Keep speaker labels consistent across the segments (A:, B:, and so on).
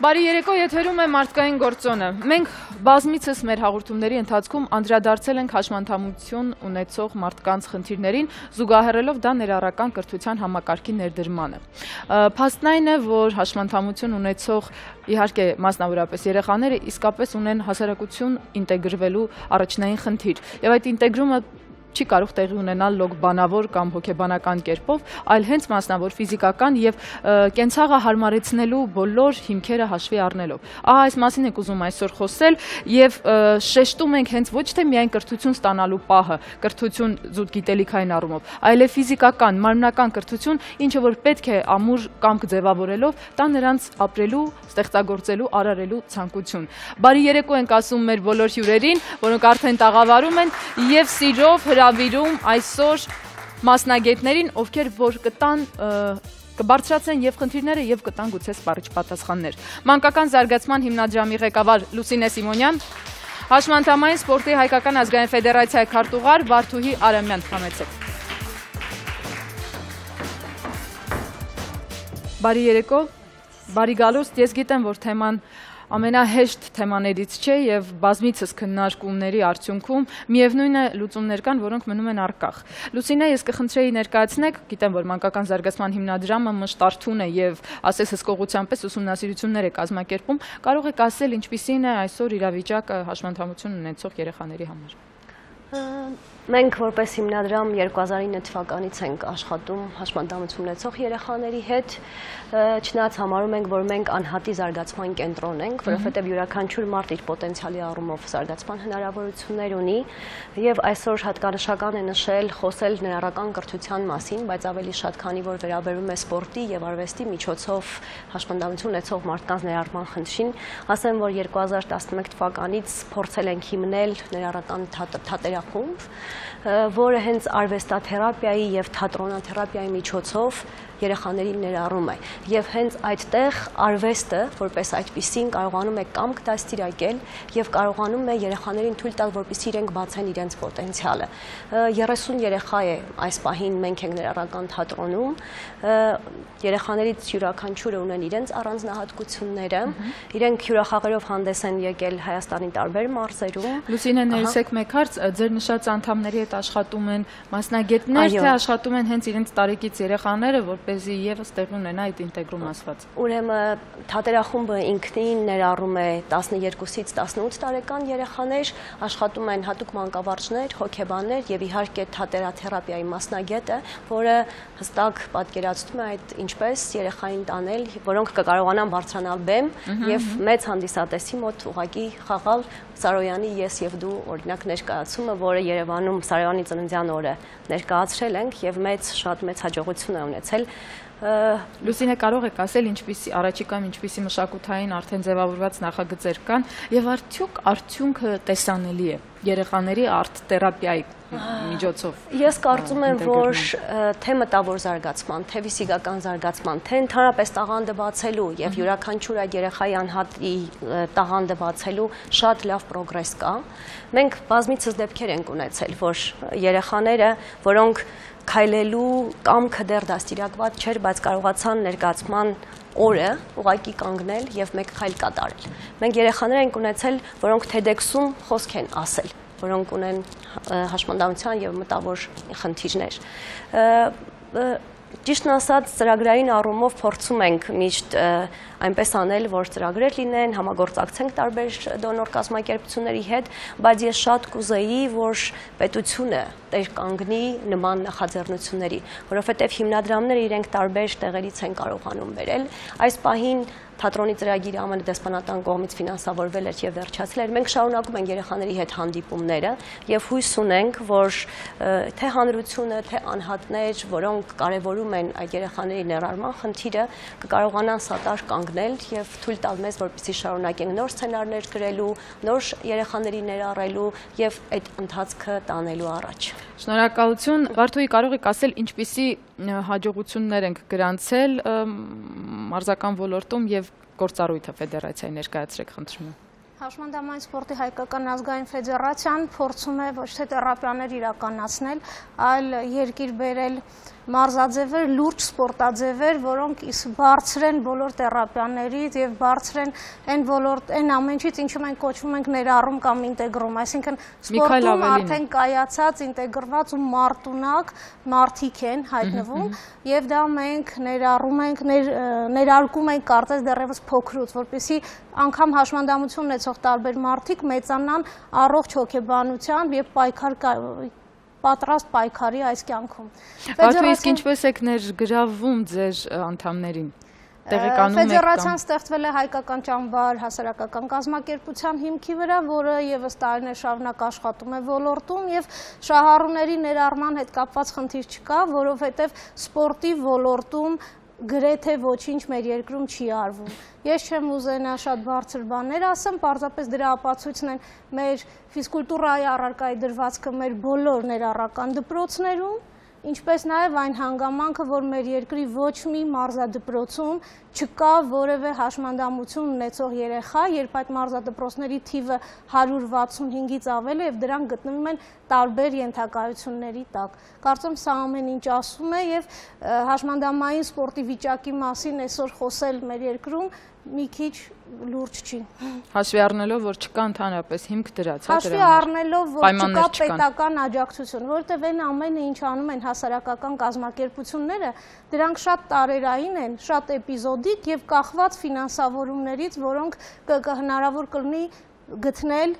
A: Բարի երեկո, եթերում է մարդկային գործոնը։ Մենք բազմիցս մեր հաղորդումների ընթացքում անդրադարձել ենք հաշմանդամություն ունեցող մարդկանց խնդիրներին, զուգահեռելով դա ներառական կրթության համակարգի ներդրմանը։ Փաստն այն է, որ հաշմանդամություն ունեցող իհարկե մասնավորապես երեխաները իսկապես ունեն հասարակություն ինտեգրվելու առաջնային խնդիր, եւ այդ ինտեգրումը չի կարող տեղի ունենալ լոկ բանավոր կամ հոգեբանական կերպով, այլ հենց մասնավոր ֆիզիկական եւ կենցաղը հարմարեցնելու բոլոր հիմքերը հաշվի առնելով։ Ահա այս մասին ենք ուզում այսօր խոսել եւ շեշտում ենք հենց ոչ թե միայն կրթություն ստանալու պահը, կրթություն զուտ գիտելիքային առումով, այլև ֆիզիկական, մարմնական կրթություն, ինչը որ պետք է ամուր կամք ձևավորելով տա նրանց ապրելու, ստեղծագործելու, արարելու ցանկություն։ Բարի երեկո ենք ասում մեր բոլոր հյուրերին, որոնք արդեն տաղավարում են եւ սիրով հրավիրում այսօր մասնագետներին, ովքեր որ կտան կբարձրացնեն եւ խնդիրները եւ կտան գուցե սպառիչ պատասխաններ։ Մանկական զարգացման հիմնադրամի ղեկավար Լուսինե Սիմոնյան, Հաշմանդամային սպորտի հայկական ազգային ֆեդերացիայի քարտուղար Վարդուհի Արամյան, համեցեք։ Բարի երեկո, բարի գալուստ, ես գիտեմ, որ թեման ամենահեշտ թեմաներից չէ եւ բազմիցս քննարկումների արդյունքում միևնույն է լուծումներ կան, որոնք մնում են առկախ։ Լուսինե, ես կխնդրեի ներկայացնեք, գիտեմ, որ մանկական զարգացման հիմնադրամը մշտարթուն է եւ ասես հսկողության պես ուսումնասիրություններ է կազմակերպում, կարող եք ասել ինչպիսին է այսօր իրավիճակը հաշմանդամություն ունեցող երեխաների համար։
B: Մենք որպես հիմնադրամ 2009 թվականից ենք աշխատում հաշմանդամություն ունեցող երեխաների հետ, չնայած համարում ենք, որ մենք անհատի զարգացման կենտրոն ենք, որովհետև յուրաքանչյուր մարդ իր պոտենցիալի առումով զարգացման հնարավորություններ ունի, եւ այսօր հատկանշական է նշել, խոսել ներառական կրթության մասին, բայց ավելի շատ, քանի որ վերաբերում է սպորտի եւ արվեստի միջոցով հաշմանդամություն ունեցող մարդկանց ներառման խնդրին, ասեմ, որ 2011 թվականից փորձել ենք հիմնել ներառական թատերախումբ, որը հենց արվեստաթերապիայի եւ թատրոնաթերապիայի միջոցով երեխաներին ներառում է եւ հենց այդտեղ արվեստը որպես այդպիսին կարողանում է կամք դաստիարակել եւ կարողանում է երեխաներին թույլ տալ, որպեսզի իրենք բացեն իրենց պոտենցիալը։ 30 երեխա է այս պահին մենք ենք ներառական թատրոնում, երեխաներից յուրաքանչյուրը ունեն իրենց առանձնահատկությունները, իրենք հյուրախաղերով հանդես են եկել Հայաստանի տարբեր մարզերում։
A: Լուսինե, ներեցեք մեկ հարց, ձեր նշած անդամների հետ աշխատում են մասնագետներ, թե աշխատում են հենց իրենց տարեկից երեխաները, որպեսզի եւս տեղի ունենա այդ ինտեգրում ասված։
B: Ուրեմն թատերախումբը ինքնին ներառում է 12-ից 18 տարեկան երեխաներ, աշխատում են հատուկ մանկավարժներ, հոգեբաններ եւ իհարկե թատերաթերապիայի մասնագետը, որը հստակ պատկերացնում է այդ ինչպես երեխային տանել, որոնք կկարողանան բարձրանալ բեմ եւ մեծ հանդիսատեսի մոտ ուղղակի խաղալ Սարոյանի ես եւ դու օրինակ ներկայացումը, որը Երևանում Սարոյանի ծննդյան օրը ներկայացրել ենք եւ շատ մեծ հաջողություն է ունեցել։
A: Լուսինե, կարող եք ասել ինչպիսի առաջիկայում ինչպիսի մշակութային արդեն ձևավորված նախագծեր կան եւ արդյոք արդյունքը տեսանելի է երեխաների արտ-թերապիայի միջոցով։
B: Ես կարծում եմ, որ թե մտավոր զարգացման, թե ֆիզիկական զարգացման, թե ընդհանրապես տաղանդը բացելու եւ յուրաքանչյուր այդ երեխայի անհատի տաղանդը բացելու շատ լավ պրոգրես կա։ Մենք բազմիցս դեպքեր ենք ունեցել, որ երեխաները, որոնք քայլելու կամքը դեռ դաստիարակված չէր, բայց կարողացան ներկայացման օրը ուղղակի կանգնել եւ մեկ քայլ կատարել։ Մենք երեխաներ ենք ունեցել, որոնք TEDx-ում խոսք են ասել, որոնք ունեն հաշմանդամության եւ մտավոր խնդիրներ։ Ճիշտն ասած, ծրագրային առումով փորձում ենք միշտ այնպես անել, որ ծրագրեր լինեն, համագործակցենք տարբեր դոնոր կազմակերպությունների հետ, բայց ես շատ կուզեի, որ պետությունը տեր կանգնի նման նախաձեռնությունների, որովհետև հիմնադրամները իրենք տարբեր տեղերից են կարողանում բերել։ Այս պահին թատրոնի ծրագիրը ԱՄՆ դեսպանատան կողմից ֆինանսավորվել էր եւ վերջացել էր։ Մենք շարունակում ենք երեխաների հետ հանդիպումները եւ հույս ունենք, որ թե հանրությունը, թե անհատներ, որոնք կարևորում են այդ երեխաների ներառման խնդիրը, կկարողանան սատար կանգնել եւ թույլ տալ մեզ, որպեսզի շարունակենք նոր սցենարներ գրելու, նոր երեխաների ներառելու եւ այդ ընթացքը տանելու առաջ։
A: Շնորհակալություն։ Վարդուհի, կարող եք ասել ինչպիսի հաջողություններ ենք գրանցել մարզական ոլորտում եւ գործառույթը ֆեդերացիայի ներկայացրեք, խնդրում եմ։
C: Հաշմանդամային սպորտի հայկական ազգային ֆեդերացիան փորձում է ոչ թե թերապիաներ իրականացնել, այլ երկիր բերել մարզաձևեր, լուրջ սպորտաձևեր, որոնք բարձր են բոլոր թերապիաներից եւ բարձր են այն ոլորտ, այն ամենից, ինչը մենք կոչվում ենք ներառում կամ ինտեգրում, այսինքն սպորտում արդեն կայացած, ինտեգրված ու մարտունակ մարդիկ են հայտնվում եւ դա մենք ներարկում ենք կարծես դեռևս փոքրուց, որպեսզի անգամ հաշմանդամություն ունեցող տարբեր մարդիկ մեծանան առողջ հոգեբանությամբ եւ պատրաստ պայքարի այս կյանքում։
A: Բաթու, իսկ ինչպես եք ներգրավում ձեր անդամներին։
C: Ֆեդերացիան ստեղծվել է հայկական ճամբար հասարակական կազմակերպության հիմքի վրա, որը եւս տարիներ շարունակ աշխատում է ոլորտում եւ շահառուների ներառման հետ կապված խնդիր չկա, որովհետեւ սպորտի ոլորտում գրեթե ոչինչ մեր երկրում չի արվում։ Ես չեմ ուզենա շատ բարձր բաներ ասեմ, պարզապես դրա ապացույցն են մեր ֆիզկուլտուրայի առարկայի դրվածքը մեր բոլոր ներառական դպրոցներում, ինչպես նաև այն հանգամանքը, որ մեր երկրի ոչ մի մարզադպրոցում չկա որևէ հաշմանդամություն ունեցող երեխա, երբ այդ մարզադպրոցների թիվը 165-ից ավել է եւ դրանք գտնվում են տարբեր ենթակայությունների տակ։ Կարծում սա ամեն ինչ ասում է եւ հաշմանդամային սպորտի վիճակի մասին այսօր խոսել մեր երկրում մի քիչ լուրջ չի։
A: Հաշվի առնելով, որ չկա ընդհանրապես հիմք դրած,
C: հաշվի առնելով, որ չկա պետական աջակցություն, որովհետև այն ամենը, ինչ անում են հասարակական կազմակերպությունները, դրանք շատ տարերային են, շատ էպիզոդիկ եւ կախված ֆինանսավորումներից, որոնք հնարավոր կլինի գտնել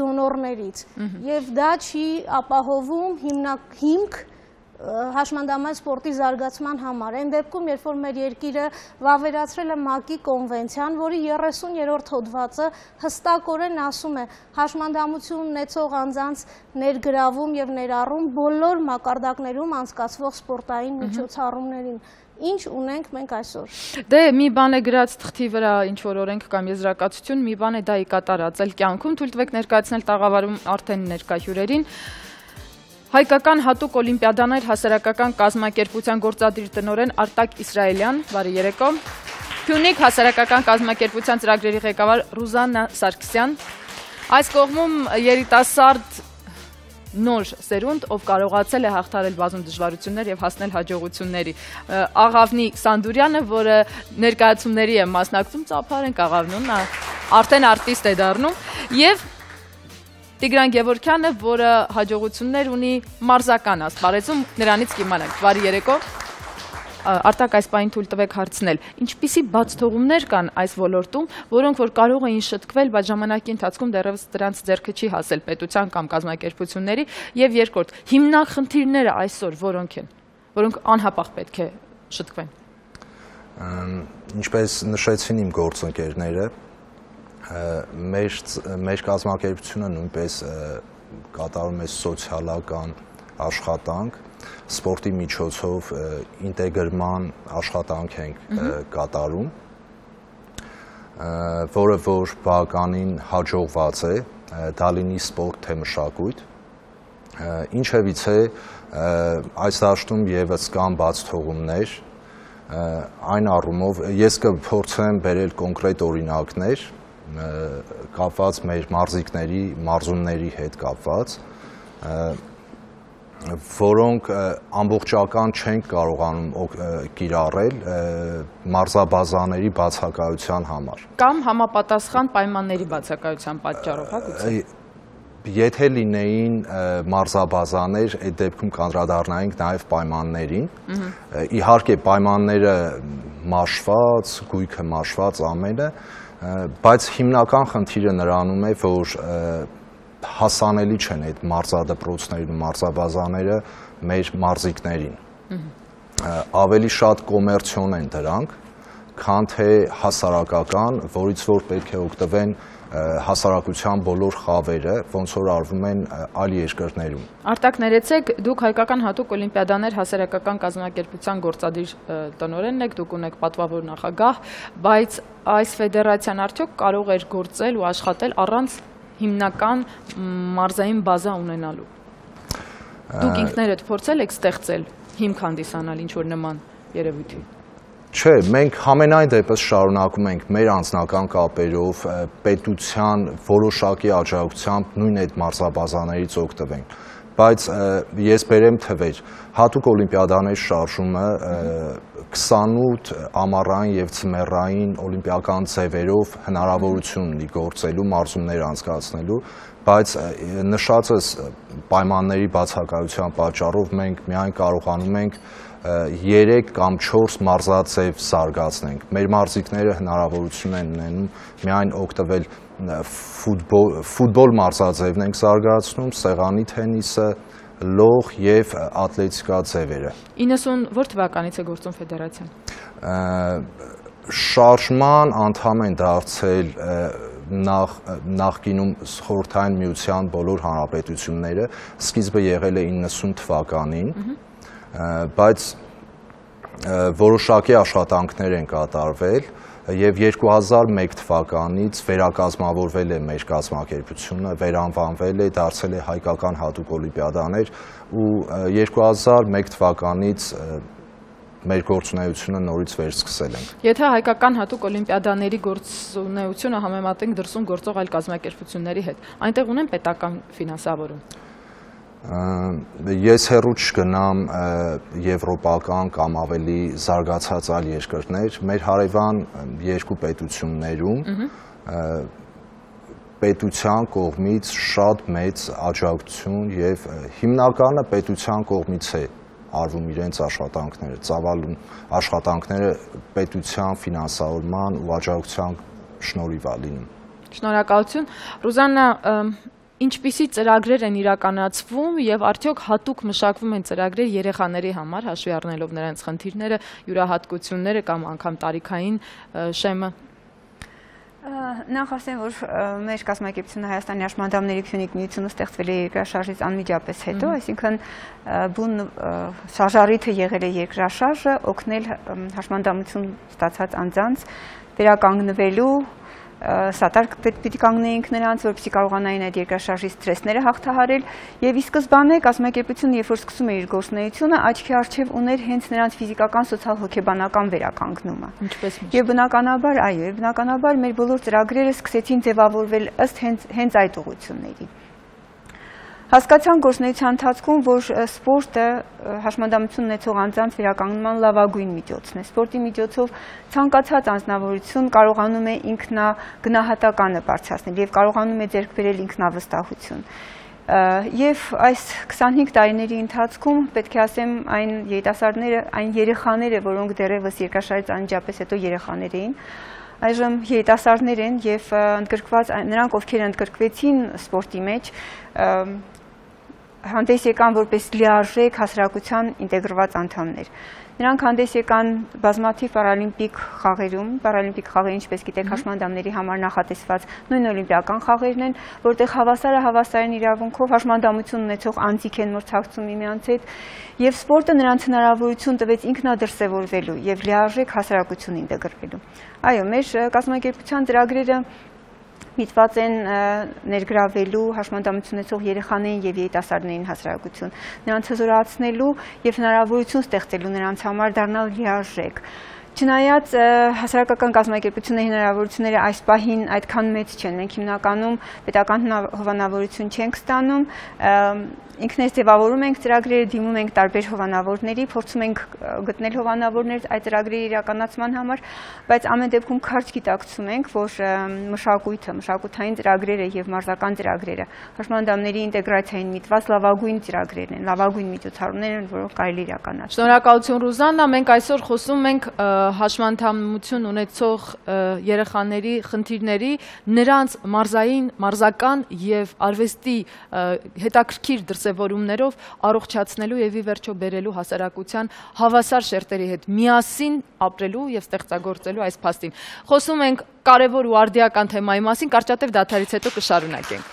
C: դոնորներից։ Եվ դա չի ապահովում հիմք հաշմանդամային սպորտի զարգացման համար։ Այն դեպքում, երբ որ մեր երկիրը վավերացրել է ՄԱԿ-ի կոնվենցիան, որի 30-րդ հոդվածը հստակորեն ասում է հաշմանդամություն ունեցող անձանց ներգրավում եւ ներառում բոլոր մակարդակներում անցկացվող սպորտային միջոցառումներին։ Ինչ ունենք մենք այսօր։
A: Դե մի բան է գրած թղթի վրա ինչ որ օրենք կամ եզրակացություն, մի բան է դա կատարածել կյանքում։ Թույլ տվեք ներկայացնել տաղավարում արդեն ներկա հյուրերին։ Հայկական հատուկ օլիմպիադաներ հասարակական կազմակերպության գործադիր տնօրեն Արտակ Իսրայելյան, բարի երեկո։ Փյունիկ հասարակական կազմակերպության ծրագրերի ղեկավար Ռուզաննա Սարգսյան։ Այս կողմում երիտասարդ նոր սերունդ, ով կարողացել է հաղթարել բազում դժվարություններ եւ հասնել հաջողությունների։ Աղավնի Սանդուրյանը, որը ներկայացումների է մասնակցում, ծափարենք Աղավնուն, նա արդեն արտիստ է դառնում, եւ Տիգրան Գևորգյանը, որը հաջողություններ ունի մարզական ասպարեզում, նրանից կիմանանք։ Բարի երեկո։ Արտակ, այս պահին թույլ տվեք հարցնել, ինչպիսի բացթողումներ կան այս ոլորտում, որոնք որ կարող էին շտկվել, բայց ժամանակի ընթացքում դեռևս դրանց ձեռքը չի հասել պետության կամ կազմակերպությունների, եւ երկրորդ, հիմնախնդիրները այսօր որոնք են, որոնք անհապաղ պետք է շտկվեն։
D: Ինչպես նշեցին իմ գործընկերները, մեր կազմակերպությունը նույնպես կատարում է սոցիալական աշխատանք, սպորտի միջոցով ինտեգրման աշխատանք ենք կատարում, որը որ բավականին հաջողված է, դա լինի սպորտ թե մշակույթ, ինչևից է այս դաշտում եւս կան բացթողումներ, այն առումով ես կփորձեմ բերել կոնկրետ օրինակներ կապված մեր մարզիկների, մարզումների հետ կապված, որոնք ամբողջական չենք կարողանում կիրառել մարզաբազաների բացակայության համար։
A: Կամ համապատասխան պայմանների բացակայության պատճառով, հա գուցե։
D: Եթե լինեին մարզաբազաներ, այդ դեպքում կանդրադառնայինք նաև պայմաններին։ Իհարկե պայմանները մաշված, գույքը մաշված ամենը, բայց հիմնական խնդիրը նրանում է, որ հասանելի չեն այդ մարզադպրոցներն ու մարզաբազաները մեր մարզիկներին։ Ավելի շատ կոմերցիոն են դրանք, քան թե հասարակական, որից որ պետք է օգտվեն հասարակության բոլոր խավերը, ոնց որ արվում են այլ երկրներում։
A: Արտակ, ներեցեք, դուք հայկական հատուկ օլիմպիադաներ հասարակական կազմակերպության գործադիր տնօրենն եք, դուք ունեք պատվավոր նախագահ, բայց այս ֆեդերացիան արդյոք կարող էր գործել ու աշխատել առանց հիմնական մարզային բազա ունենալու։ Դուք ինքներդ փորձել եք ստեղծել հիմք հանդիսանալ ինչ-որ նման երևույթի։
D: Չէ, մենք համենայն դեպս շարունակում ենք մեր անձնական կապերով պետության որոշակի աջակցությամբ նույն այդ մարզաբազաներից օգտվենք։ բայց ես բերեմ թվեր, հատուկ օլիմպիադաների շարժումը 28 ամառային եւ ցմեռային օլիմպիական ձևերով հնարավորություն ունի գործելու, մարզումներ անցկացնելու, բայց նշածս պայմանների բացակայության պատճառով մենք միայն կարողանում ենք 3 կամ 4 մարզաձև զարգացնենք։ Մեր մարզիկները հնարավորություն են ունենում միայն օգտվել ֆուտբոլ մարզաձևն ենք զարգացնում, սեղանի թենիսը, լող եւ ատլետիկա ձևերը։
A: 90 թվականից է գործում ֆեդերացիան։
D: Շարժման անդամ են դարձել նախկինում խորհրդային միության բոլոր հանրապետությունները, սկիզբը եղել է 90 թվականին, բայց որոշակի աշխատանքներ են կատարվել եւ 2001 թվականից վերակազմավորվել է մեր կազմակերպությունը, վերանվանվել է, դարձել է հայկական հատուկ օլիմպիադաներ ու 2001 թվականից մեր գործունեությունը նորից վերսկսել ենք։
A: Եթե հայկական հատուկ օլիմպիադաների գործունեությունը համեմատենք դրսում գործող այլ կազմակերպությունների հետ, այնտեղ ունեն պետական ֆինանսավորում։
D: Ես հեռու չգնամ եվրոպական կամ ավելի զարգացած այլ երկրներ, մեր հարևան երկու պետություններում պետության կողմից շատ մեծ աջակցություն եւ հիմնականը պետության կողմից է արվում իրենց աշխատանքները, ծավալուն աշխատանքները պետության ֆինանսավորման ու աջակցության շնորհիվ է լինում։
A: Շնորհակալություն։ Ռուզաննա, ինչպիսի ծրագրեր են իրականացվում եւ արդյոք հատուկ մշակվում են ծրագրեր երեխաների համար, հաշվի առնելով նրանց խնդիրները, յուրահատկությունները կամ անգամ տարիքային շեմը։
E: Նախ ասեմ, որ մեր կազմակերպությունը Հայաստանի հաշմանդամների քյունիկ միությունը ստեղծվել է երկրաշարժից անմիջապես հետո, այսինքն բուն շարժառիթը եղել է երկրաշարժը, օգնել հաշմանդամություն ստացած անձանց վերականգնվելու, սատար պիտի կանգնեինք նրանց, որպեսզի կարողանային այդ երկրաշարժի սթրեսները հաղթահարել եւ ի սկզբանե կազմակերպությունը երբ որ սկսում է իր գործունեությունը, աչքի առջև ուներ հենց նրանց ֆիզիկական, սոցիալ-հոգեբանական վերականգնումը։ Եվ բնականաբար, այո, բնականաբար մեր բոլոր ծրագրերը սկսեցին ձևավորվել ըստ հենց այդ ուղղությունների։ Հասկացան գործունեության ընթացքում, որ սպորտը հաշմանդամություն ունեցող անձանց վերականգնման լավագույն միջոցն է։ Սպորտի միջոցով ցանկացած անձնավորություն կարողանում է ինքնագնահատականը բարձրացնել եւ կարողանում է ձեռք բերել ինքնավստահություն։ Եվ այս 25 տարիների ընթացքում պետք է ասեմ այն երիտասարդները, այն երեխաները, որոնք դեռևս երկրաշարժից անմիջապես հետո երեխաներ էին, այժմ երիտասարդներ են եւ ընդգրկված նրանք, ովքեր ընդգրկվեցին սպորտի մեջ, հանդես եկան որպես լիարժեք հասարակության ինտեգրված անդամներ։ Նրանք հանդես եկան բազմաթիվ պարալիմպիկ խաղերում, պարալիմպիկ խաղերը, ինչպես գիտեք, հաշմանդամների համար նախատեսված նույն օլիմպիական խաղերն են, որտեղ հավասարը հավասարին իրավունքով հաշմանդամություն ունեցող անձիկ են մրցակցում միմյանց հետ, եւ սպորտը նրանց հնարավորություն տվեց ինքնադրսևորվելու եւ լիարժեք հասարակություն ինտեգրվելու։ Այո, մեր կազմակերպության ծրագրերը միտված են ներգրավելու հաշմանդամություն ունեցող երեխաներին եւ երիտասարդներին հասարակություն, նրանց հզորացնելու եւ հնարավորություն ստեղծելու նրանց համար դառնալ լիարժեք։ Չնայած հասարակական կազմակերպությունների հնարավորությունները այս պահին այդքան մեծ չեն, մենք հիմնականում պետական հովանավորություն չենք ստանում, ինքներս ձևավորում ենք ծրագրերը, դիմում ենք տարբեր հովանավորների, փորձում ենք գտնել հովանավորներ այդ ծրագրերի իրականացման համար, բայց ամեն դեպքում քարջ գիտակցում ենք, որ մշակույթը, մշակութային ծրագրերը եւ մարզական ծրագրերը հաշմանդամների ինտեգրացիային միտված լավագույն ծրագրերն են, լավագույն միջոցառումներն են, որոնք կարելի իրականացնել։
A: Շնորհակալություն Ռուզաննա, մենք այսօր խոսում ենք հաշմանդամություն ունեցող երեխաների խնդիրների, նրանց մարզային, մարզական եւ արվեստի հետաքրքիր դրսևորումներով առողջացնելու եւ ի վերջո բերելու հասարակության հավասար շերտերի հետ միասին ապրելու եւ ստեղծագործելու այս փաստին։ Խոսում ենք կարևոր ու արդիական թեմայի մասին, կարճատև դադարից հետո կշարունակենք։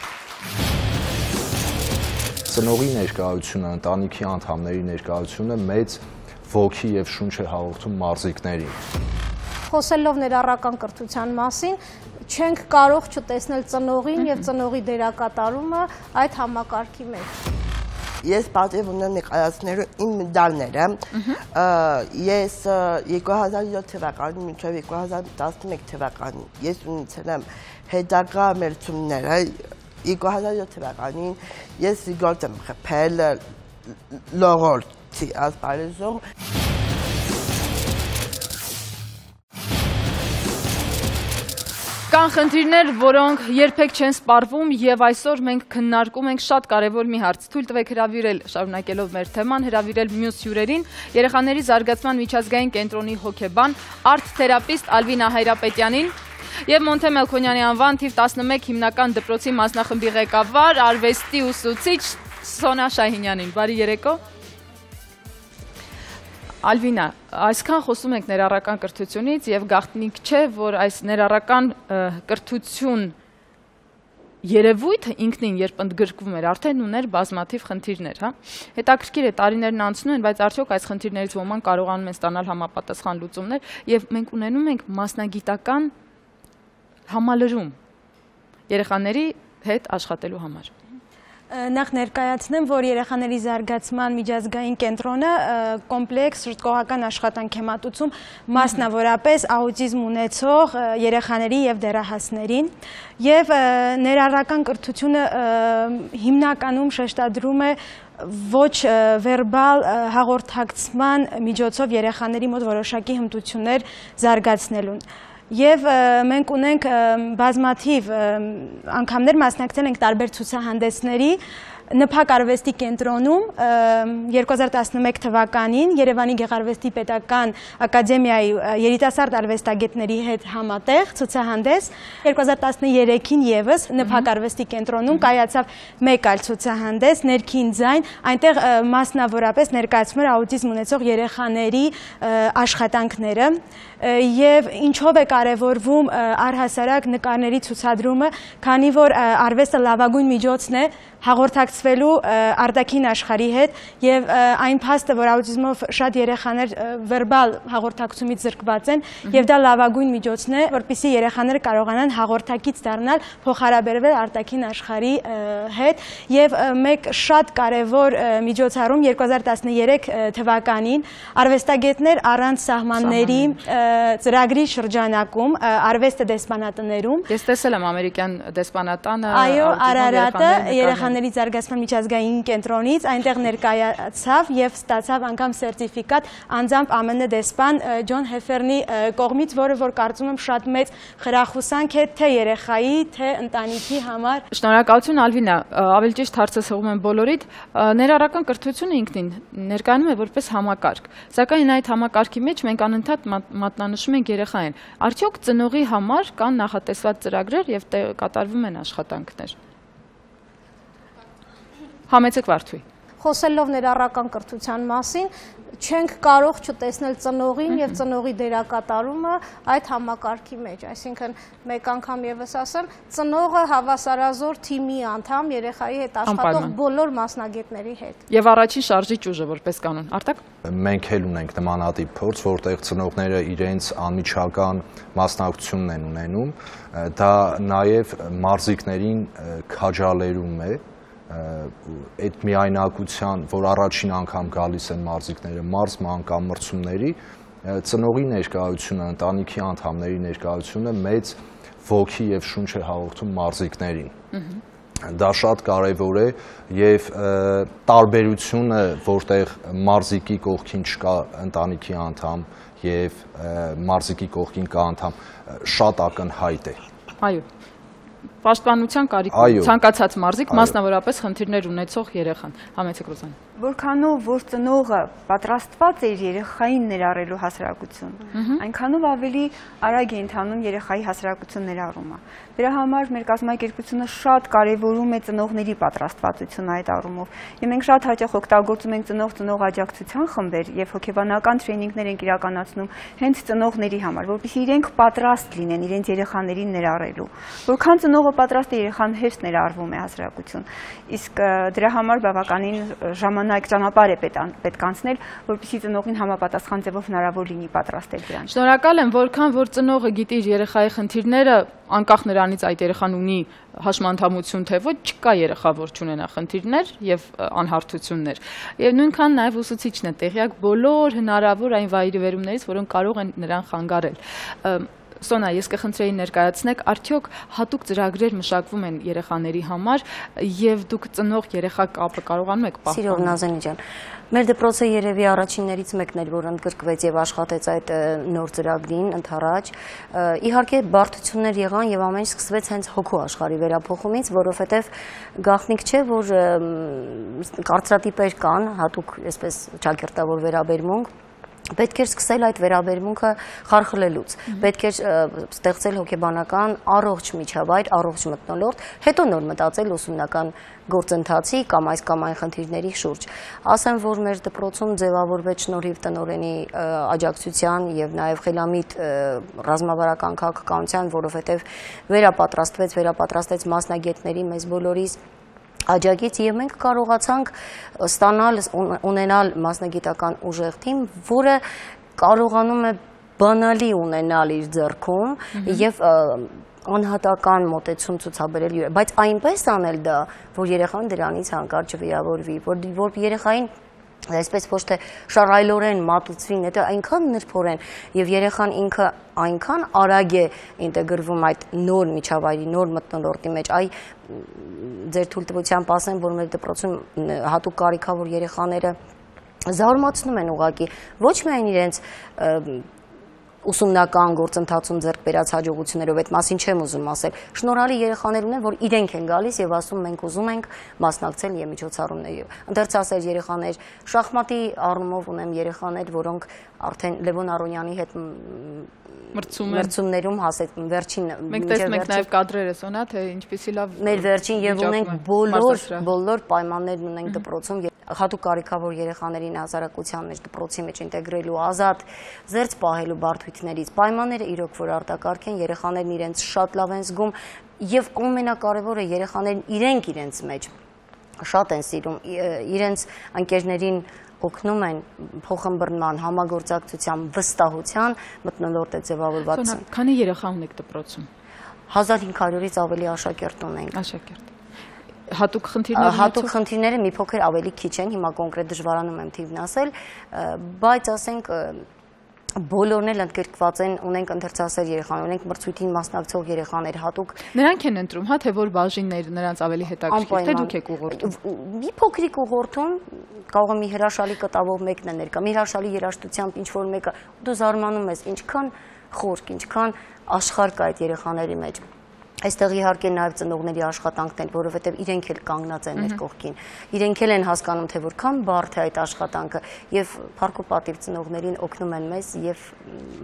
D: Ծնողի ներկայությունը, ընտանիքի անդամների ներկայությունը մեծ ոգի եւ շունչ է հաղորդում մարզիկներին։
C: Խոսելով ներառական կրթության մասին, չենք կարող չտեսնել ծնողին եւ ծնողի դերակատարումը այդ համակարգի մեջ։
F: Ես պատիվ ունեմ ներկայացնելու իմ մեդալները։ Ես 2007 թվականին մինչև 2011 թվականին ես ունեցել եմ հետագա մրցումները 2007 թվականին ես զիգորտ եմ խփել լողորտի ասպարեզում։
A: Կան խնդիրներ, որոնք երբեք չեն սպառվում եւ այսօր մենք քննարկում ենք շատ կարեւոր մի հարց։ Թույլ տվեք հրավիրել, շարունակելով մեր թեման, հրավիրել մյուս հյուրերին, երեխաների զարգացման միջազգային կենտրոնի հոգեբան, արտ-թերապիստ Ալվինա Հայրապետյանին եւ Մոնթե Մելքոնյանի անվան թիվ 11 հիմնական դպրոցի մասնախմբի ղեկավար, արվեստի ուսուցիչ Սոնա Շահինյանին։ Բարի երեկո։ Ալվինա, այսքան խոսում ենք ներառական կրթությունից եւ գաղտնիք չէ, որ այս ներառական կրթություն երևույթը ինքնին երբ ընդգրկվում էր, արդեն ուներ բազմաթիվ խնդիրներ, հա։ Հետաքրքիր է, տարիներն անցնում են, բայց արդյոք այս խնդիրներից ոմանք կարողանում են ստանալ համապատասխան լուծումներ եւ մենք ունենում ենք մասնագիտական համալրում երեխաների հետ աշխատելու համար։
G: Նախ ներկայացնեմ, որ երեխաների զարգացման միջազգային կենտրոնը կոմպլեքս ժողովրդական աշխատանք է մատուցում մասնավորապես աուտիզմ ունեցող երեխաների եւ դեռահասներին եւ ներառական կրթությունը հիմնականում շեշտադրում է ոչ վերբալ հաղորդակցման միջոցով երեխաների մոտ որոշակի հմտություններ զարգացնելուն։ Եվ մենք ունենք բազմաթիվ անգամներ մասնակցել ենք տարբեր ցուցահանդեսների ՆՓԱԿ արվեստի կենտրոնում 2011 թվականին Երևանի Գեղարվեստի պետական ակադեմիայի երիտասարդ արվեստագետների հետ համատեղ ցուցահանդես 2013-ին եւս ՆՓԱԿ արվեստի կենտրոնում կայացավ մեկ այլ ցուցահանդես ներքին ձայն, այնտեղ մասնավորապես ներկայացվում էր աուտիզմ ունեցող երեխաների աշխատանքները եւ ինչով է կարեւորվում առհասարակ նկարների ցուցադրումը, քանի որ արվեստը լավագույն միջոցն է հաղորդակցվելու արտաքին աշխարհի հետ եւ այն փաստը, որ աուտիզմով շատ երեխաներ վերբալ հաղորդակցումից զրկված են եւ դա լավագույն միջոցն է, որպեսզի երեխաները կարողանան հաղորդակից դառնալ, փոխհարաբերվել արտաքին աշխարհի հետ եւ մեկ շատ կարեւոր միջոցառում 2013 թվականին արվեստագետներ առանց սահմանների ծրագրի շրջանակում արվեստը դեսպանատներում
A: Ես տեսել եմ ամերիկյան դեսպանատանը
G: այո Արարատը երեխաների զարգացման միջազգային կենտրոնից այնտեղ ներկայացավ եւ ստացավ անգամ սերտիֆիկատ անձամբ ԱՄՆ դեսպան Ջոն Հեֆերնի կողմից, որը որ կարծում եմ շատ մեծ խրախուսանք է թե երեխայի, թե ընտանիքի համար։
A: Շնորհակալություն Ալվինա, ավելի ճիշտ հարցը հղում եմ բոլորիդ, ներառական կրթությունը ինքնին ներկայանում է որպես համակարգ, սակայն այդ համակարգի մեջ մենք անընդհատ մատնանշում ենք երեխային։ Արդյոք ծնողի համար կան նախատեսված ծրագրեր եւ կատարվում են աշխատանքներ։ Համեցեք Վարդուի։
C: Խոսելով ներառական կրթության մասին, չենք կարող չտեսնել ծնողին եւ ծնողի դերակատարումը այդ համակարգի մեջ, այսինքն մեկ անգամ եւս ասեմ, ծնողը հավասարազոր թիմի անդամ երեխայի հետ աշխատող բոլոր մասնագետների հետ։
A: Եվ առաջին շարժիչ ուժը որպես կանոն։ Արտակ։
D: Մենք էլ ունենք նմանատիպ փորձ, որտեղ ծնողները իրենց անմիջական մասնակցությունն են ունենում, դա նաեւ մարզիկներին քաջալերում է այդ միայնակության, որ առաջին անգամ գալիս են մարզիկները մարզ մանկամրցումների, ծնողի ներկայությունը, ընտանիքի անդամների ներկայությունը մեծ ոգի եւ շունչ է հաղորդում մարզիկներին։ Դա շատ կարևոր է եւ տարբերությունը, որտեղ մարզիկի կողքին չկա ընտանիքի անդամ եւ մարզիկի կողքին կա անդամ, շատ ակնհայտ է։
A: Այո։ Պաշտպանության կարիք ցանկացած մարզիկ, մասնավորապես խնդիրներ ունեցող երեխան։ Համեցեք Ռոզան։
E: Որքանով որ ծնողը պատրաստված է իր երեխային ներառելու հասարակություն, այնքանով ավելի արագ է ընթանում երեխայի հասարակություն ներառումը։ Դրա համար մեր կազմակերպությունը շատ կարևորում է ծնողների պատրաստվածությունը այդ առումով։ Եվ մենք շատ հաճախ օգտագործում ենք ծնող աջակցության խմբեր եւ հոգեբանական տրեյնինգներ ենք իրականացնում հենց ծնողների համար, որպեսզի իրենք պատրաստ լինեն իրենց երեխաներին ներառելու։ Որքան ծնողը պատրաստ է, երեխան հեշտ ներառվում է հասարակություն։ Իսկ դրա համար բավականին ժամանակ ճանապարհ է պետք անցնել, որպեսզի ծնողին համապատասխան ձևով հնարավոր լինի պատրաստել դրան։
A: Շնորհակալ եմ, որքան որ ծնողը գիտի իր երեխայի խնդիրները, անկախ նրանից այդ երեխան ունի հաշմանդամություն թե ոչ, չկա երեխա, որ չունենա խնդիրներ եւ անհարթություններ։ Եվ նույնքան նաեւ ուսուցիչն է տեղյակ բոլոր հնարավոր այն վայրիվերումներից, որոնք կարող են նրան խանգարել։ Սոնա, ես կխնդրեի ներկայացնեք, արդյոք հատուկ ծրագրեր մշակվում են երեխաների համար եւ դուք ծնող երեխա կապը կարողանում եք պահպանել։
B: Սիրով Նազենի ջան, մեր դպրոցը երևի առաջիններից մեկն էր, որ ընդգրկվեց եւ աշխատեց այդ նոր ծրագրին ընդառաջ։ Իհարկե բարդություններ եղան եւ ամեն ինչ սկսվեց հենց հոգու աշխարհի վերափոխումից, որովհետեւ գաղտնիք չէ, որ կարծրատիպեր կան, հատուկ այսպես ճակերտավոր վերաբերմունք պետք էր սկսել այդ վերաբերմունքը խարխլելուց, պետք էր ստեղծել հոգեբանական առողջ միջավայր, առողջ մթնոլորտ, հետո նոր մտածել ուսումնական գործընթացի կամ այս կամ այն խնդիրների շուրջ։ Ասեմ, որ մեր դպրոցում ձևավորվեց շնորհիվ տնօրենի աջակցության եւ նաեւ խելամիտ ռազմավարական քաղաքականության, որովհետեւ վերապատրաստվեց մասնագետների մեզ բոլորիս աջակից եւ մենք կարողացանք ունենալ մասնագիտական ուժեղ թիմ, որը կարողանում է բանալի ունենալ իր ձեռքում եւ անհատական մոտեցում ցուցաբերել, բայց այնպես անել դա, որ երեխան դրանից հանկարծ չվիրավորվի, որ երեխային այսպես ոչ թե շարայլորեն մատուցվին, դա այնքան նրբորեն եւ երեխան ինքը այնքան արագ է ինտեգրվում այդ նոր միջավայրի, նոր մթնոլորտի մեջ, ձեր թույլտվությամբ ասեմ, որ մեր դպրոցում հատուկ կարիքավոր երեխաները զարմացնում են ուղղակի ոչ միայն իրենց ուսումնական գործընթացում ձեռք բերած հաջողություններով, այդ մասին չեմ ուզում ասել, շնորհալի երեխաներ ունեն, որ իրենք են գալիս եւ ասում մենք ուզում ենք մասնակցել եւ միջոցառումների։ Ընդերցասեր երեխաներ, շախմատի առումով ունեմ երեխաներ, որոնք արդեն Լևոն Արոնյանի հետ մրցումներում հասել վերջին
A: մենք տեսնում ենք նաեւ կադրերը Սոնա, թե ինչպեսի լավ
B: մեր վերջին եւ ունենք բոլոր պայմաններն ունենք դպրոցում հատուկ կարիքավոր երեխաներին հասարակության մեջ դպրոցի մեջ ինտեգրելու ազատ զերծ պահելու բարդություններից պայմանները իրոք որ արտակարգ են, երեխաներն իրենց շատ լավ են զգում եւ ամենակարևորը երեխաներն իրենց մեջ շատ են սիրում իրենց ընկերներին օգնում են փոխըմբռնման, համագործակցության, վստահության մթնոլորտ է ձևավորված։
A: Քանի երեխա ունեք դպրոցում։
B: 1500-ից ավելի աշակերտ ունենք։
A: Աշակերտ։ Հատուկ խնդիրներ։
B: Հատուկ խնդիրները մի փոքր ավելի քիչ են, հիմա կոնկրետ դժվարանում եմ թիվն ասել, բայց ասենք բոլորն էլ ընդգրկված են, ունենք ընթերցասեր երեխաներ, ունենք մրցույթին մասնակցող երեխաներ, հատուկ
A: նրանք են ընտրում, հա, թե որ բաժիններ նրանց ավելի հետաքրքիր, թե դուք եք ուղղորդում։
B: Մի փոքրիկ ուղղորդում, կարող է մի հրաշալի կտավով մեկն է ներկա, մի հրաշալի երաժշտությամբ ինչ որ մեկը, դու զարմանում ես, ինչքան խորք, ինչքան աշխարհ կա այդ երեխաների մեջ։ Այստեղ իհարկե նաև ծնողների աշխատանքն է, որովհետև իրենք էլ կանգնած են մեր կողքին։ Իրենք էլ են հասկանում, թե որքան բարդ է այդ աշխատանքը եւ փառք ու պատիվ ծնողներին օգնում են մեզ եւ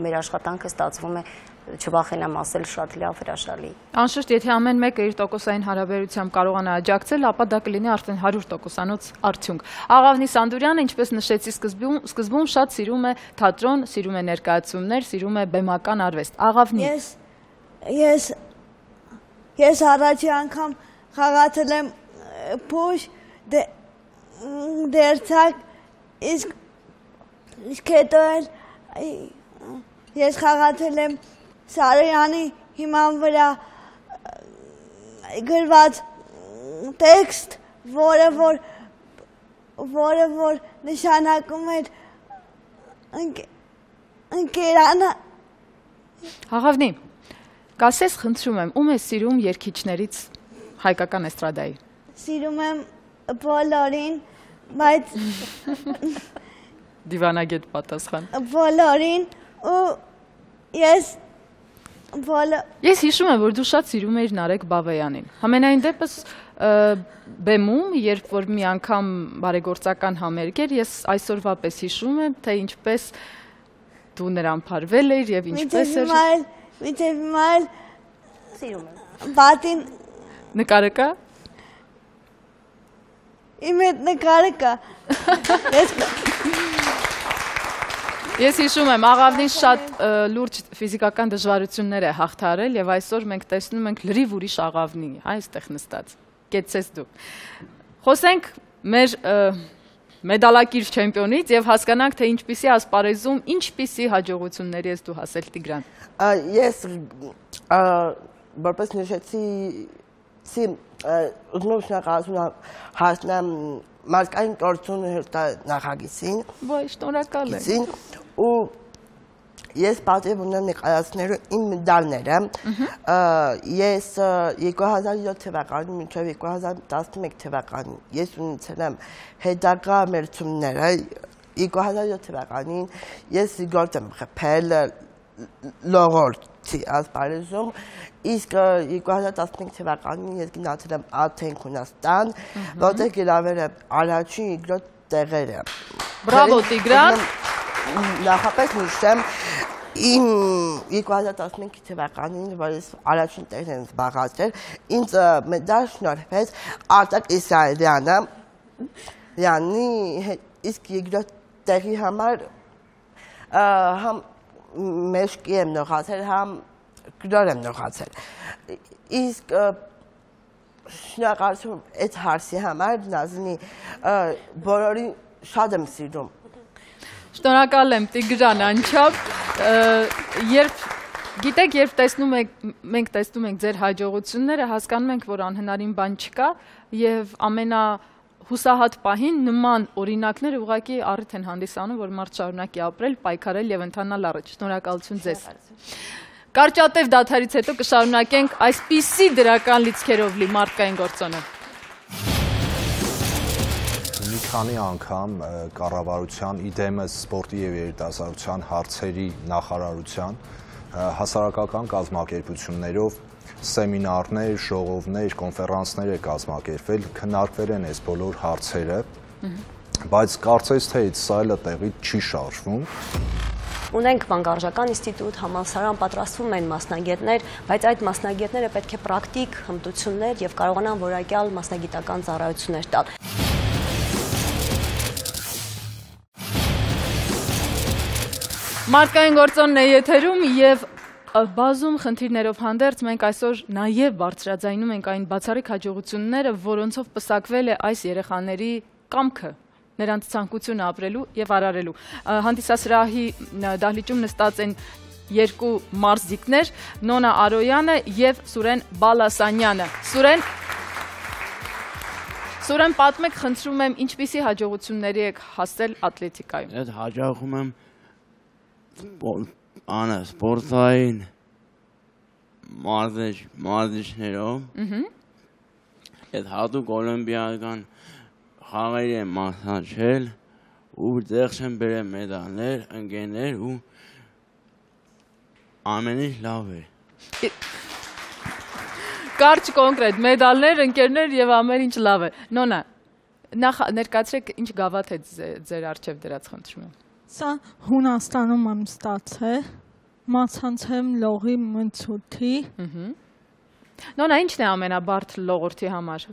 B: մեր աշխատանքը ստացվում է չվախենամ ասել շատ լավ հրաշալի։
A: Անշուշտ, եթե ամեն մեկը իր տոկոսային հարաբերությամբ կարողանա աջակցել, ապա դա կլինի արդեն 100%-անոց արդյունք։ Աղավնի Սանդուրյանը, ինչպես նշեցի սկզբում, շատ սիրում է թատրոն, սիրում է ներկայացումներ, սիրում է բեմական արվեստ։ Աղավնի։
H: Ես առաջի անգամ խաղացել եմ փուշ դերցակ, իսկ հետո էլ ես խաղացել եմ Սարոյանի հիման վրա գրված տեքստ, որը որ նշանակում էր ընկերանը։
A: Աղավնի, կասես խնդրում եմ, ում ես սիրում երգիչներից հայկական էստրադայի։
H: Սիրում եմ բոլորին, բայց
A: դիվանագետ պատասխան։
H: Բոլորին ու ես
A: հիշում եմ, որ դու շատ սիրում էիր Նարեկ Բավեյանին։ Համենայն դեպս բեմում, երբ որ մի անգամ բարեգործական համերգ էր, ես այսօրվա պես հիշում եմ, թե ինչպես դու նրան փարվել էիր եւ ինչպես էր։
H: Մինչև հիմա էլ
B: սիրում եմ։
H: Բատին
A: նկարը կա։
H: Իմ հետ նկարը կա։
A: Ես հիշում եմ, Աղավնին շատ լուրջ ֆիզիկական դժվարություններ է հաղթարել եւ այսօր մենք տեսնում ենք լրիվ ուրիշ Աղավնի, այստեղ նստած։ Կեցես դու։ Խոսենք մեր մեդալակիր չեմպիոնից եւ հասկանանք, թե ինչպիսի ասպարեզում, ինչպիսի հաջողությունների ես դու հասել Տիգրան։
F: Ես որպես նշեցի, ուզում եմ շնորհակալություն հասնեմ մարդկային կրթություն նախագծին։
A: Ոայ, շնորհակալ եմ։
F: Ու ես պատիվ ունեմ նկարացնելու իմ մեդալները, ես 2007 թվականին մինչև 2011 թվականին ես ունեցել եմ հետագա մրցումները, 2007 թվականին ես գործ եմ խփել լողորտի ասպարեզում, իսկ 2015 թվականին ես գնացել եմ Աթեն Հունաստան, որտեղ գրավել եմ առաջին երկրորդ տեղերը։
A: Բրավո Տիգրան։
F: Նախապես նշեմ իմ 2015 թվականին, որ ես առաջին տեղն եմ զբաղացրել, ինձ մեդալ շնորհվեց Արտակ Իսրայելյանը, իսկ երկրորդ տեղի համար համ մեջքի եմ նողացել, համ գրոր եմ նողացել։ Իսկ շնորհակալություն այդ հարցի համար, Նազնի, բոլորին շատ եմ սիրում։
A: Շնորհակալ եմ Տիգրան անչափ, գիտեք, երբ մենք տեսնում ենք ձեր հաջողությունները, հասկանում ենք, որ անհնարին բան չկա եւ ամենահուսահատ պահին նման օրինակները ուղղակի առիթ են հանդիսանում, որ մարդ շարունակի ապրել, պայքարել եւ ընթանալ առաջ։ Շնորհակալություն ձեզ։ Կարճատև դադարից հետո կշարունակենք այսպիսի դրական լիցքերով լի մարդկային գործոնը։
D: Մի քանի անգամ կառավարության իդեմս սպորտի եւ երիտասարդության հարցերի նախարարության հասարակական կազմակերպություններով սեմինարներ, ժողովներ, կոնֆերանսներ է կազմակերպվել, քննարկվել են այս բոլոր հարցերը, բայց կարծես թե այդ սայլը տեղի չի շարժվում։
B: Ունենք մանկարժական ինստիտուտ, համալսարան, պատրաստվում են մասնագետներ, բայց այդ մասնագետները պետք է պրակտիկ հմտություններ եւ կարողանան որակյալ մասնագիտական ծառայություններ տալ։
A: Մարդկային գործոնն է եթերում եւ բազում խնդիրներով հանդերձ մենք այսօր նաեւ բարձրաձայնում ենք այն բացառիկ հաջողությունները, որոնցով պսակվել է այս երեխաների կամքը, նրանց ցանկությունը ապրելու եւ արարելու։ Հանդիսասրահի դահլիճում նստած են երկու մարզիկներ, Նոնա Արոյանը եւ Սուրեն Բալասանյանը։ Սուրեն, պատմեք, խնդրում եմ, ինչպիսի հաջողությունների եք հասել ատլետիկայում։
I: Այդ հաջողում եմ սպորտային մարզիչներով, այդ հատուկ օլիմպիական խաղերի եմ մասնակցել ու դեղ չեմ բերել մեդալներ, ընկերներ ու ամեն ինչ լավ է։
A: Կարճ կոնկրետ, մեդալներ, ընկերներ եւ ամեն ինչ լավ է։ Նոնա, նախ ներկայացրեք ինչ գավաթ է ձեր առջև դրած, խնդրում եմ։
J: Սա Հունաստանում եմ ստացել, մացանցեմ լողի մնցորդի։
A: Նոնա, ինչն է ամենաբարդ լողորդի համար։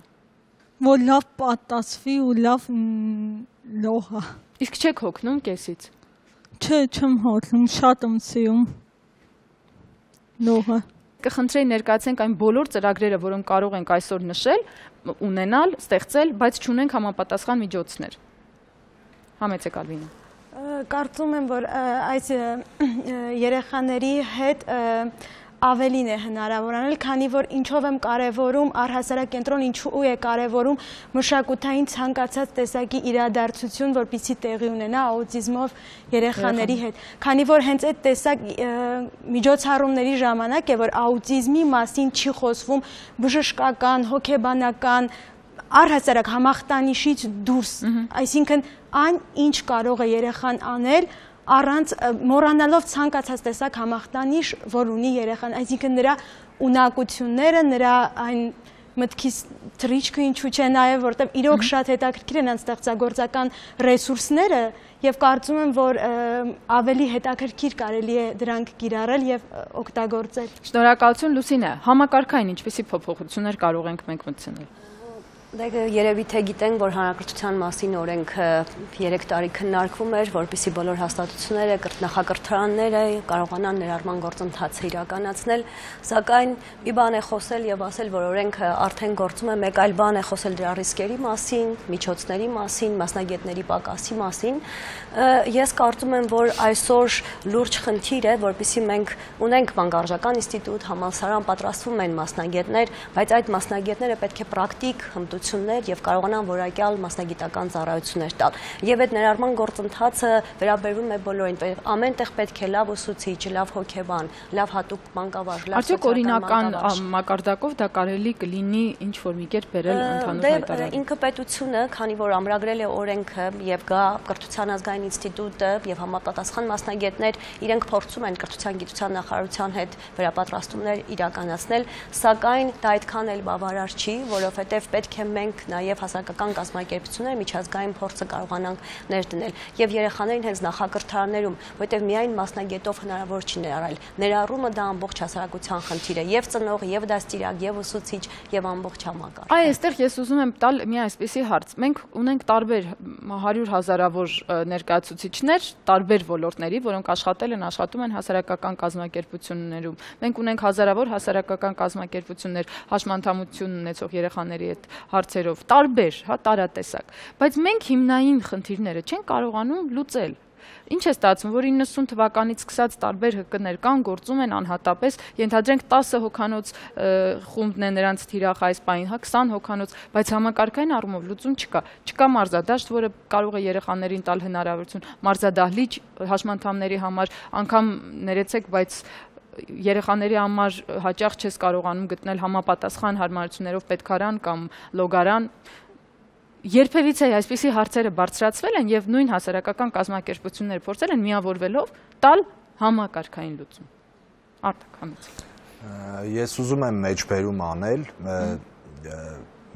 J: Որ լավ պատասվի ու լավ լողա։
A: Իսկ չեք հոգնում կեսից։
J: Չէ, չեմ հոգնում, շատ եմ սիրում լողը։
A: Կխնդրեի ներկայացնենք այն բոլոր ծրագրերը, որոնք կարող ենք այսօր նշել, ունենալ, ստեղծել, բայց չունենք համապատասխան միջոցներ։ Համեցեք Ալվինը։
G: Կարծում եմ, որ այս երեխաների հետ ավելին է հնարավոր անել, քանի որ ինչով եմ կարևորում առհասարակ կենտրոն, ինչու է կարևորում մշակութային ցանկացած տեսակի իրադարձություն, որպեսզի տեղի ունենա աուտիզմով երեխաների հետ, քանի որ հենց այդ տեսակ միջոցառումների ժամանակ է, որ աուտիզմի մասին չի խոսվում բժշկական, հոգեբանական, առհասարակ համախտանիշից դուրս, այսինքն այն ինչ կարող է երեխան անել առանց մոռանալով ցանկացած տեսակ համախտանիշ, որ ունի երեխան, այսինքն նրա ունակությունները, նրա այն մտքից թռիչքը ինչու՞ չէ նաև, որտեղ իրոք շատ հետաքրքիր են ստեղծագործական ռեսուրսները եւ կարծում եմ, որ ավելի հետաքրքիր կարելի է դրանք կիրառել եւ օգտագործել։
A: Շնորհակալություն Լուսինե, համակարգային ինչպիսի փոփոխություններ կարող ենք մենք մտցնել։
B: Երևի թե գիտենք, որ հանրակրթության մասին օրենքը 3 տարի քննարկվում էր, որպեսզի բոլոր հաստատությունները, նախակրթարանները կարողանան ներառման գործընթացը իրականացնել, սակայն մի բան է խոսել եւ ասել, որ օրենքը արդեն գործում է, մեկ այլ բան է խոսել դրա ռիսկերի մասին, միջոցների մասին, մասնագետների պակասի մասին։ Ես կարծում եմ, որ այսօր լուրջ խնդիր է, որպեսզի մենք ունենք մանկարժական ինստիտուտ, համալսարան, պատրաստվում են մասնագետներ, բայց այդ մասնագետները պետք է պրակտիկ հմտություն հմտություններ եւ կարողանան որակյալ մասնագիտական ծառայություններ տալ։ Եվ այդ ներառման գործընթացը վերաբերվում է բոլորին, ամենտեղ պետք է լավ ուսուցիչ, լավ հոգեբան, լավ հատուկ մանկավարժ, լավ
A: Արդյոք օրինական մակարդակով դա կարելի կլինի ինչ որ մի կերպ բերել ընդհանուր հայտարարել։
B: Ինքը պետությունը, քանի որ ամրագրել է օրենքը եւ գա Կրթության ազգային ինստիտուտը եւ համապատասխան մասնագետներ, իրենք փորձում են Կրթության գիտության նախարարության հետ վերապատրաստումներ իրականացնել, սակայն դա այդքան էլ բավարար չի, որովհետեւ պետք է մենք նաեւ հասարակական կազմակերպությունները միջազգային փորձը կարողանանք ներդնել եւ երեխաներին հենց նախակրթարաններում, որովհետեւ միայն մասնագետով հնարավոր չի ներառել։ Ներառումը դա ամբողջ հասարակության խնդիր է, եւ ծնող, եւ դաստիարակ, եւ ուսուցիչ, եւ ամբողջ համակարգ։
A: Այ այստեղ ես ուզում եմ տալ մի այսպիսի հարց։ Մենք ունենք տարբեր 100 հազարավոր ներկայացուցիչներ, տարբեր ոլորտների, որոնք աշխատում են հասարակական կազմակերպություններում։ Մենք ունենք հազարավոր հասարակական կազմակերպություններ, հաշմանդամություն ունեցող երեխաների հետ հարցերով, տարբեր, տարատեսակ։ Բայց մենք հիմնային խնդիրները չենք կարողանում լուծել։ Ինչ է ստացվում, որ 90 թվականից սկսած տարբեր ՀԿ-ներ կան, գործում են անհատապես, ենթադրենք 10 հոգանոց խումբն է նրանց թիրախ այս պահին, 20 հոգանոց, բայց համակարգային առումով լուծում չկա։ Չկա մարզադաշտ, որը կարող է երեխաներին տալ հնարավորություն, մարզադահլիճ հաշմանդամների համար, անգամ ներեցեք, բայց երեխաների համար հաճախ չես կարողանում գտնել համապատասխան հարմարություններով պետքարան կամ լոգարան։ Երբևիցե այսպիսի հարցերը բարձրացվել են եւ նույն հասարակական կազմակերպությունները փորձել են միավորվելով տալ համակարգային լուծում։ Արտակ Համեցյան։
D: Ես ուզում եմ մեջբերում անել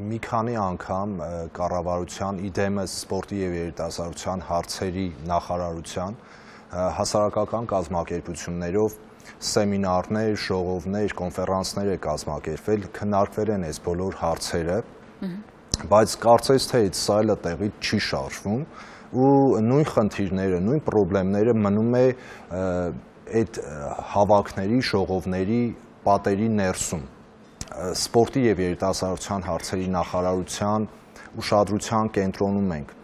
D: մի քանի անգամ կառավարության իդեմս սպորտի եւ երիտասարդության հարցերի նախարարության հասարակական կազմակերպություններով սեմինարներ, ժողովներ, կոնֆերանսներ է կազմակերպվել, քննարկվել են այս բոլոր հարցերը, բայց կարծես թե այդ սայլը տեղից չի շարժվում ու նույն խնդիրները, նույն խնդիրները մնում է այդ հավաքների, ժողովների պատերի ներսում։ Սպորտի եւ երիտասարդության հարցերի նախարարության ուշադրության կենտրոնում ենք։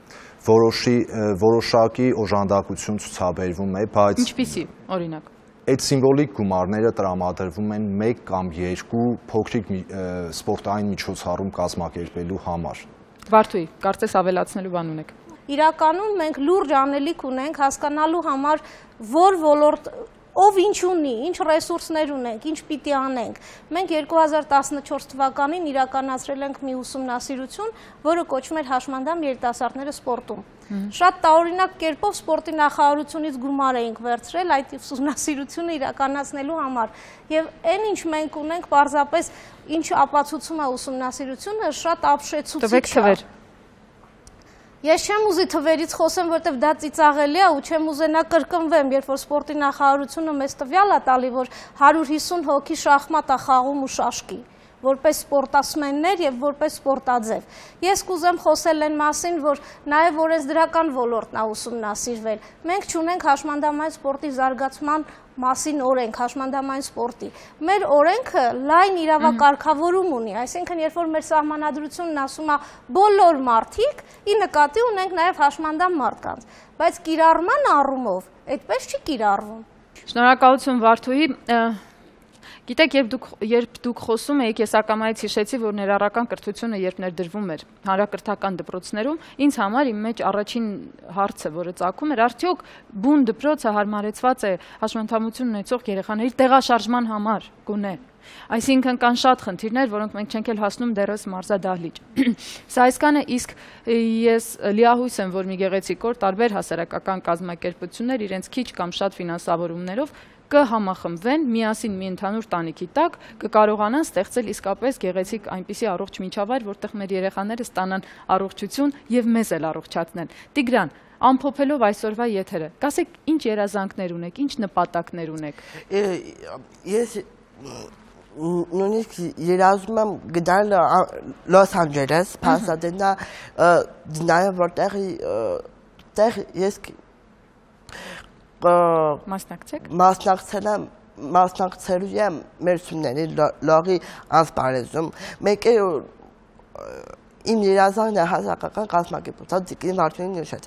D: Որոշակի օժանդակություն ցուցաբերվում է, բայց
A: ինչպիսի, օրինակ
D: այդ սիմվոլիկ գումարները տրամադրվում են 1 կամ 2 փոքրիկ սպորտային միջոցառում կազմակերպելու համար։
A: Վարդուհի, կարծես ավելացնելու բան ունեք։
C: Իրականում մենք լուրջ անելիք ունենք հասկանալու համար, որ ոլորտ ով ինչ ունի, ինչ ռեսուրսներ ունենք, ինչ պիտի անենք։ Մենք 2014 թվականին իրականացրել ենք մի ուսումնասիրություն, որը կոչվում էր հաշմանդամ երիտասարդները սպորտում։ Շատ տարօրինակ կերպով սպորտի նախարարությունից գումար էինք վերցրել այդ ուսումնասիրությունը իրականացնելու համար։ Եվ այն ինչ մենք ունենք, պարզապես ինչ ապացուցում է ուսումնասիրությունը, շատ ապշեցուցիչ է։ Ես չեմ ուզի թվերից խոսեմ, որտեվ դա ծիծաղելի է ու չեմ ուզենա կրկնվեմ, երբ որ սպորտի նախարարությունը մեզ տվյալ է տալի, որ 150 հոգի շախմատ է խաղում ու շաշկի, որպես սպորտասմեններ եւ որպես սպորտաձև։ Ես կուզեմ խոսել այն մասին, որ նաեւ օրենսդրական ոլորտն է ուսումնասիրվել։ Մենք չունենք հաշմանդամային սպորտի զարգացման մասին օրենք, հաշմանդամային սպորտի։ Մեր օրենքը լայն իրավակարգավորում ունի, այսինքն երբ որ մեր սահմանադրությունն ասում է բոլոր մարդիկ, ի նկատի ունենք նաև հաշմանդամ մարդկանց, բայց կիրառման առումով այդպես չի կիրառվում։
A: Շնորհակալություն Վարդուհի։ Գիտեք, երբ դուք խոսում եք, ես ակամայից հիշեցի, որ ներառական կրթությունը երբ ներդրվում էր հանրակրթական դպրոցներում, ինձ համար իմ մեջ առաջին հարցը, որը ծագում էր, արդյոք բուն դպրոցը հարմարեցված է հաշմանդամություն ունեցող երեխաների տեղաշարժման համար, գոնե։ Այսինքն կան շատ խնդիրներ, որոնք մենք չենք էլ հասնում դեռս մարզադահլիճ։ Սա այսքանը, իսկ ես լիահույս եմ, որ մի գեղեցիկ օր տարբեր հասարակական կազմակերպություններ իրենց քիչ կամ շատ ֆինանսավորումներով կհամախմբվեն միասին մի ընդհանուր տանիքի տակ, կկարողանան ստեղծել իսկապես գեղեցիկ այնպիսի առողջ միջավայր, որտեղ մեր երեխաները ստանան առողջություն եւ մեզ էլ առողջացնեն։ Տիգրան, ամփոփելով այսօրվա եթերը, կասեք ինչ երազանքներ ունեք, ինչ նպատակներ ունեք։
F: Ես նույնիսկ երազում եմ գնալ Լոս Անջելես, Փասադենա, նաև որտեղ ես մասնակցելու եմ մեր ուսումների լողի ասպարեզում, մեկ է իմ երազանքն է հասարակական կազմակերպության Տիկին Վարդուհին նշեց։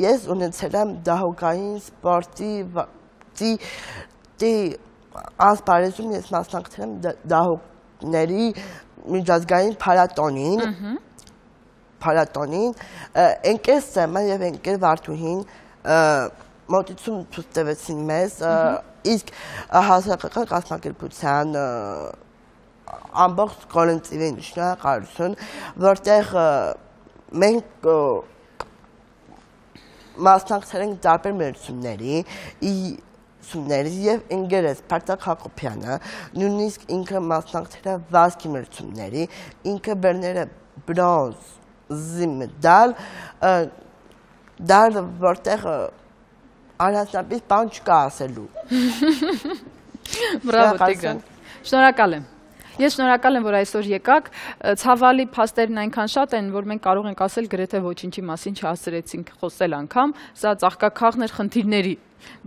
F: Ես ունեցել եմ դահուկային սպորտի ասպարեզում, ես մասնակցել եմ դահուկների միջազգային փառատոնին ընկեր Սեմը եւ ընկեր Վարդուհին մոտեցում ցույց տվեցին մեզ, իսկ հասարակական կազմակերպության ամբողջ կոլեկտիվին շնորհակալություն, որտեղ մենք մասնակցել ենք տարբեր մրցումների, եւ ընկերս Փարթակ Հակոբյանը նույնիսկ ինքը մասնակցել է վազքի մրցումների, ինքը բերներ է բրոնզի մեդալ, որտեղ առանձնապես բան չկա ասելու։
A: Բրավո Տիգրան։ Շնորհակալ եմ։ Ես շնորհակալ եմ, որ այսօր եկաք, ցավալի փաստերն այնքան շատ են, որ մենք կարող ենք ասել գրեթե ոչինչի մասին չհասցրեցինք խոսել անգամ, սա ծաղկաքաղն էր խնդիրների,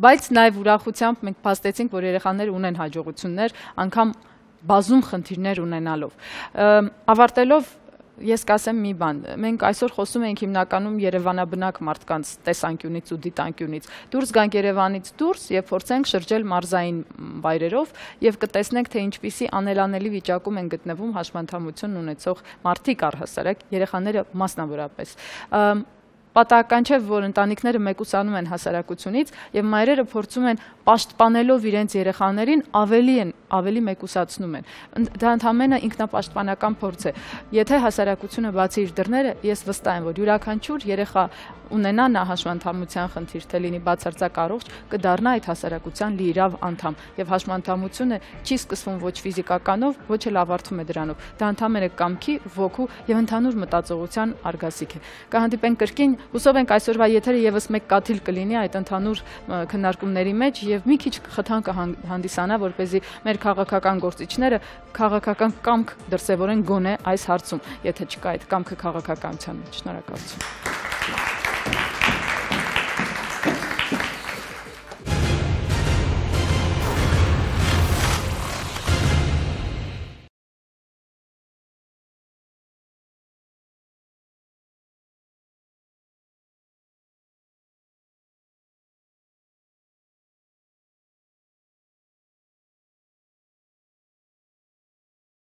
A: բայց նաև ուրախությամբ մենք փաստեցինք, որ երեխաները ունեն հաջողություններ, անգամ բազում խնդիրներ ունենալով։ Ավարտելով ես կասեմ մի բան, մենք այսօր խոսում ենք հիմնականում Երևանաբնակ մարդկանց տեսանկյունից ու դիտանկյունից, դուրս գանք Երևանից դուրս եւ փորձենք շրջել մարզային վայրերով եւ կտեսնենք, թե ինչպիսի անելանելի վիճակում են գտնվում հաշմանդամություն ունեցող մարդիկ առհասարակ, երեխաները մասնավորապես։ Պատահական չէ, որ ընտանիքները մեկուսանում են հասարակությունից եւ մայրերը փորձում են պաշտպանելով իրենց երեխաներին ավելի մեկուսացնում են։ Դա ընդհանրապես ինքնապաշտպանական փորձ է։ Եթե հասարակությունը բացի իր դռները, ես վստահ եմ, որ յուրաքանչյուր երեխա ունենա նա հաշմանդամության խնդիր, թե լինի բացարձակ առողջ, կդառնա այդ հասարակության լիիրավ անդամ եւ հաշմանդամությունը չի սկսվում ոչ ֆիզիկականով, ոչ էլ ավարտվում է դրանով։ Դա ընդհանրապես կամքի, ոգու եւ ընդհանուր մտածողության արգասիք է։ Կհանդիպենք կրկին, հուսով ենք այսօրվա եթերը եւս մեկ կաթիլ կլինի այդ ընդհանուր քննարկումների մեջ եւ մի քիչ խթան կհանդիսանա, որպեսզի մեր քաղաքական գործիչները քաղաքական կամք դրսևորեն գոնե այս հարցում, եթե չկա այդ կամքը քաղաքականության մեջ։ Շնորհակալություն։